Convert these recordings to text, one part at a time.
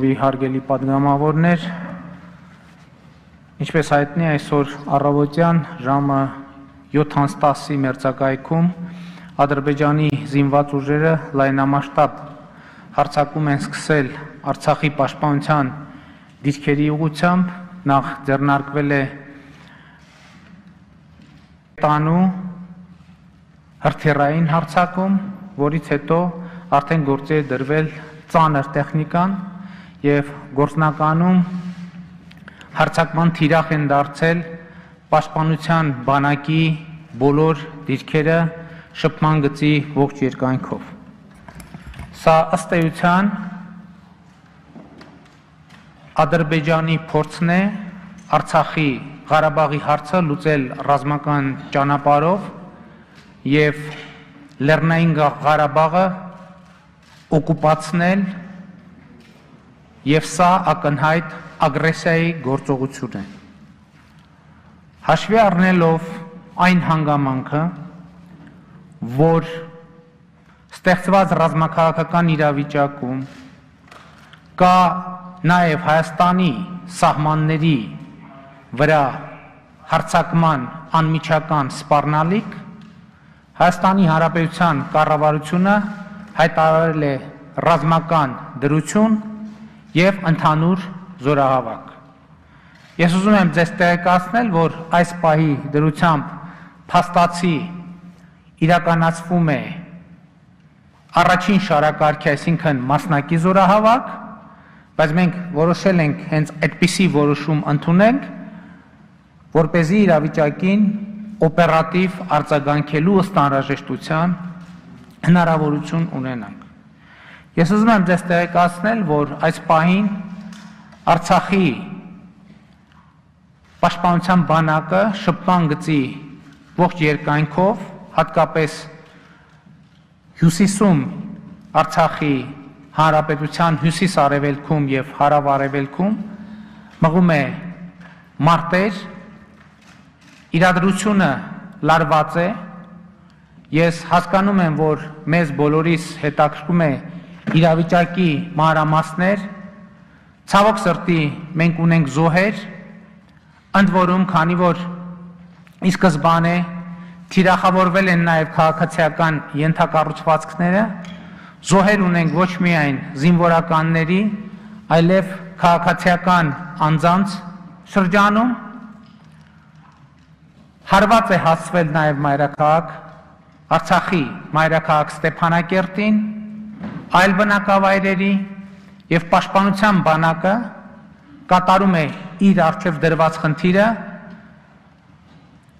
ժողովի հարգելի պատգամավորներ, ինչպես հայտնի այսօր առավոտյան ժամը 7:10-ի մերձակայքում Ադրբեջանի զինված ուժերը լայնամասշտաբ հարձակում են սկսել Արցախի պաշտպանության դիրքերի ուղղությամբ, նախ ձեռնարկվել է տանու հրթիռային հարձակում, որից հետո արդեն գործի է դրվել ծանր տեխնիկան եւ գործնականում հարձակման թիրախ են դարձել պաշտպանության բանակի բոլոր դիրքերը շփման գծի ողջ երկայնքով։ Սա ըստ էության Ադրբեջանի փորձն է Արցախի Ղարաբաղի հարցը լուծել ռազմական ճանապարհով եւ Լեռնային Ղարաբաղը օկուպացնել եւ սա ակնհայտ ագրեսիայի գործողություն է։ Հաշվի առնելով այն հանգամանքը, որ ստեղծված ռազմաքաղաքական իրավիճակում կա նաև Հայաստանի սահմանների վրա հարձակման անմիջական սպառնալիք, Հայաստանի Հանրապետության կառավարությունը հայտարարել է ռազմական դրություն եւ ընդհանուր զորահավաք։ Ես ուզում եմ ձեզ տեղեկացնել, որ այս պահի դրությամբ փաստացի իրականացվում է առաջին շարակարգի, այսինքն մասնակի զորահավաք, բայց մենք որոշել ենք հենց այդպիսի որոշում ընդունենք, որպեսզի իրավիճակին օպերատիվ արձագանքելու ըստ անհրաժեշտության հնարավորություն ունենանք։ Ես ուզում եմ ձեզ տեղեկացնել, որ այս պահին Արցախի պաշտպանության բանակը շփման գծի ողջ երկայնքով, հատկապես հյուսիսում Արցախի Հանրապետության հյուսիս-արևելքում եւ հարավ-արևելքում մղում է մարտեր, իրադրությունը լարված է, ես հասկանում եմ, որ մեզ բոլորիս հետաքրքրում է իրավիճակի մանրամասներ, ցավոք սրտի մենք ունենք զոհեր, ընդ որում, քանի որ ի սկզբանե թիրախավորվել են նաև քաղաքացիական ենթակառուցվածքները, զոհեր ունենք ոչ միայն զինվորականների, այլև քաղաքացիական անձանց շրջանում, հարված է հասցվել նաև մայրաքաղաք, Արցախի մայրաքաղաք Ստեփանակերտին, այլ բնակավայրերի եւ պաշտպանության բանակը կատարում է իր առջև դրված խնդիրը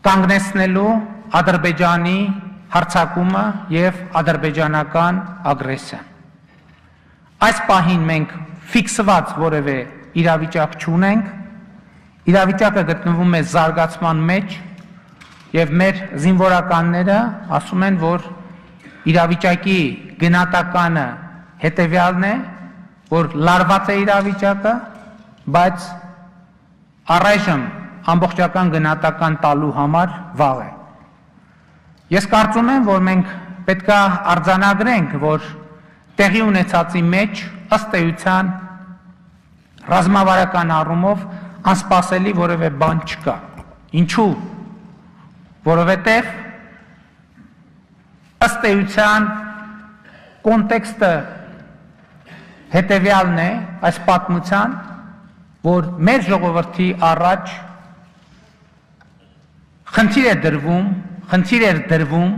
կանգնեցնելու Ադրբեջանի հարձակումը եւ ադրբեջանական ագրեսիան։ Այս պահին մենք ֆիքսված որևէ իրավիճակ չունենք, իրավիճակը գտնվում է զարգացման մեջ եւ մեր զինվորականները ասում են, որ իրավիճակի գնահատականը հետեւյալն է, որ լարված է իրավիճակը, բայց առայժմ ամբողջական գնահատական տալու համար վաղ է։ Ես կարծում եմ, որ մենք պետք է արձանագրենք, որ տեղի ունեցածի մեջ ըստ էության ռազմավարական առումով անսպասելի որևէ բան չկա։ Ինչու՞։ Որովհետև ըստ էության կոնտեքստը հետևյալն է այս պատմության, որ մեր ժողովրդի առաջ խնդիր էր դրվում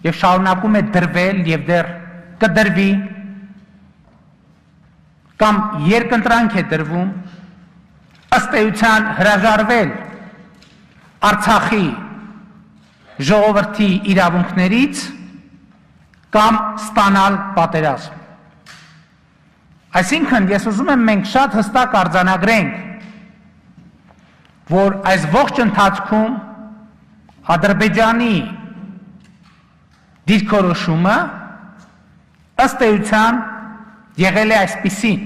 եւ շարունակում է դրվել եւ դեռ կդրվի կամ երկընտրանք է դրվում ըստ էության հրաժարվել Արցախի ժողովրդի իրավունքներից կամ ստանալ պատերազմ։ Այսինքն ես ուզում եմ մենք շատ հստակ արձանագրենք, որ այս ողջ ընթացքում Ադրբեջանի դիրքորոշումը ըստ էության եղել է այսպիսին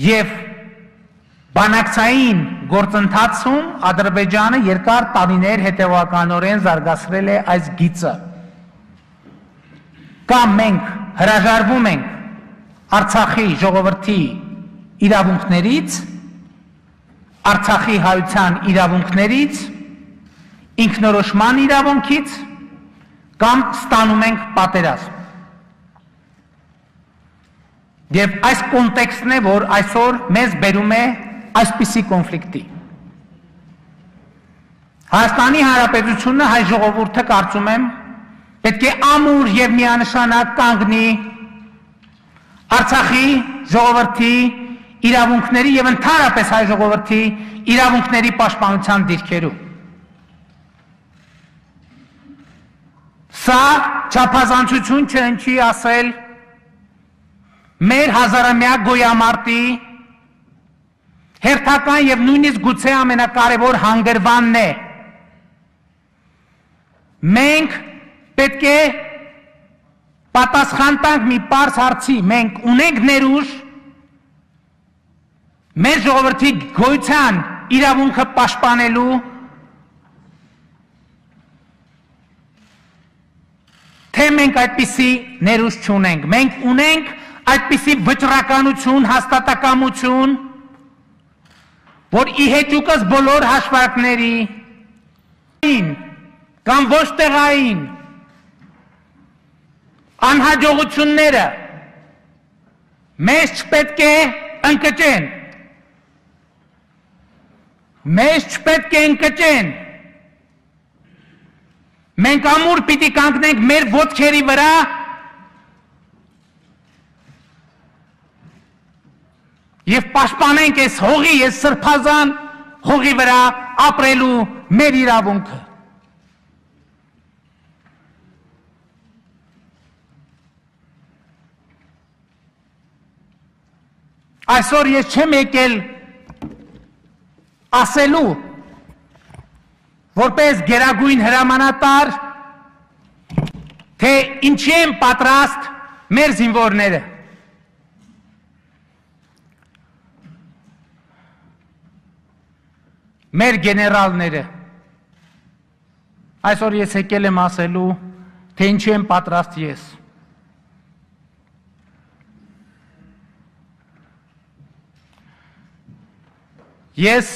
եւ բանակցային գործընթացում Ադրբեջանը երկար տարիներ հետևականորեն զարգացրել է այս գիծը։ Կամ մենք հրաժարվում ենք Արցախի ժողովրդի իրավունքներից, Արցախի հայության իրավունքներից, ինքնորոշման իրավունքից կամ ստանում ենք պատերազմ։ Եվ այս կոնտեքստն է, որ այսօր մեզ բերում է այսպիսի կոնֆլիկտի։ Հայաստանի Հանրապետությունը, հայ ժողովուրդը կարծում եմ, պետք է ամուր եւ միանշանակ կանգնի Արցախի ժողովրդի իրավունքների եւ ընդհանրապես հայ ժողովրդի իրավունքների պաշտպանության դիրքերում։ Սա չափազանցություն չի ասել մեր հազարամյա գոյամարտի հերթական եւ նույնիսկ գուցե ամենակարևոր հանգրվանն է։ Մենք պետք է պատասխան տանք մի պարզ հարցի, մենք ունենք ներուժ մեր ժողովրդի գոյության իրավունքը պաշտպանելու, թե մենք այդպիսի ներուժ չունենք, մենք ունենք այդպիսի վճռականություն, հաստատակամություն, որ ի հեճուկս բոլոր հաշվարկների կամ ոչ տեղային անհաջողությունները մեզ չպետք է ընկճեն, մենք ամուր պիտի կանգնենք մեր ոտքերի վրա եւ պաշտպանենք այս հողի, այս սրբազան հողի վրա ապրելու մեր իրավունքը։ Այսօր ես չեմ եկել ասելու, որպես գերագույն հրամանատար, թե ինչի են պատրաստ մեր զինվորները։ Մեր գեներալները, այսօր ես եկել եմ ասելու, թե ինչի եմ պատրաստ ես։ Ես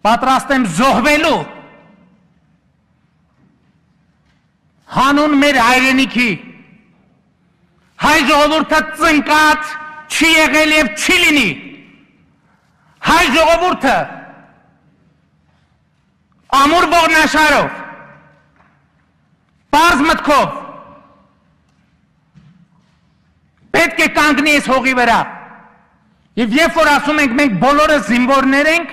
պատրաստ եմ զոհվելու հանուն մեր հայրենիքի, հայ ժողովուրդը ծնկած չի եղել և չի լինի, հայ ժողովուրդը ամուր ողնաշարով, պարզ մտքով, պետք է կանգնի այս հողի վրա, և երբ որ ասում ենք մենք բոլորը զինվորներ ենք,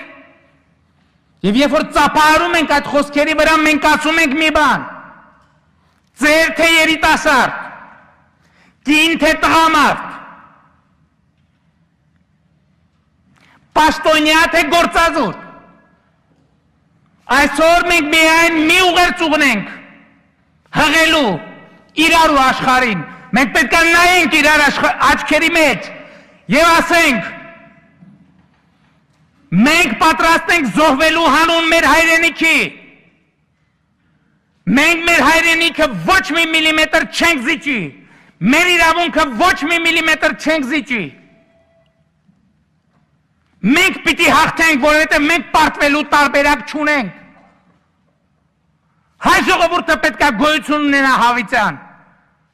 և երբ որ ծափահարում ենք այդ խոսքերի վրա, մենք ասում ենք մի բան, ծեր թե երիտասարդ, կին թե տղամարդ, պաշտոնյա թե գործազուրկ, այսօր մենք միայն մի ուղերձ ենք հղելու իրար ու աշխարհին, մենք պետք է նայենք իրար աչքերի մեջ և ասենք, մենք պատրաստ ենք զոհվելու հանուն մեր հայրենիքի, մենք մեր հայրենիքը ոչ մի միլիմետր չենք զիջի, մեր իրավունքը ոչ մի միլիմետր չենք զիջի, մենք պիտի հաղթենք, որովհետև մենք պարտվելու տարբերակ չունենք, հայ ժողովուրդը պետք է գոյություն ունենա հավիտյան,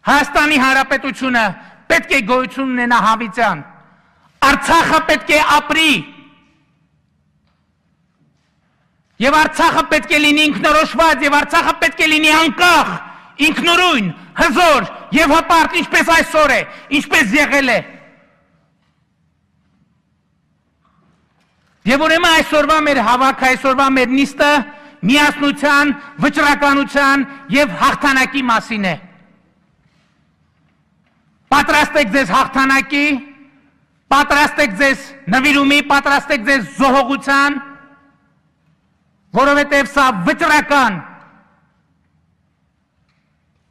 Հայաստանի Հանրապետությունը պետք է գոյություն ունենա հավիտյան, Արցախը պետք է ապրի, և Արցախը պետք է լինի ինքնորոշված, և Արցախը պետք է լինի անկախ, ինքնուրույն, հզոր և հպարտ, ինչպես այսօր է, ինչպես եղել է։ Եվ ուրեմն այսօրվա մեր հավաքը, այսօրվա մեր նիստը միասնության, վճռականության և հաղթանակի մասին է։ Պատրաստեք ձեզ հաղթանակի, պատրաստեք ձեզ նվիրումի, պատրաստեք ձեզ զոհողության, որովհետև սա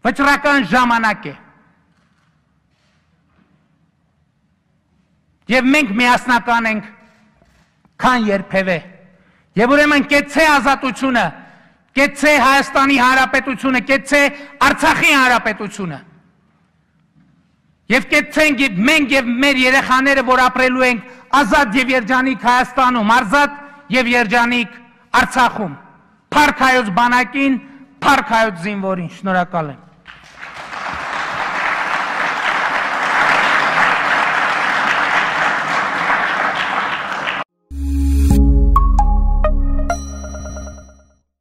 վճռական ժամանակ է։ Եվ մենք միասնական ենք, քան երբևէ։ Եվ ուրեմն կեցցե ազատությունը, կեցցե Հայաստանի Հանրապետությունը, կեցցե Արցախի Հանրապետությունը։ Եվ կեցենք մենք եւ մեր երեխաները, որ ապրելու ենք ազատ եւ երջանիկ Հայաստանում, ազատ եւ երջանիկ Արցախում, փառք հայոց բանակին, փառք հայոց զինվորին, շնորհակալ եմ։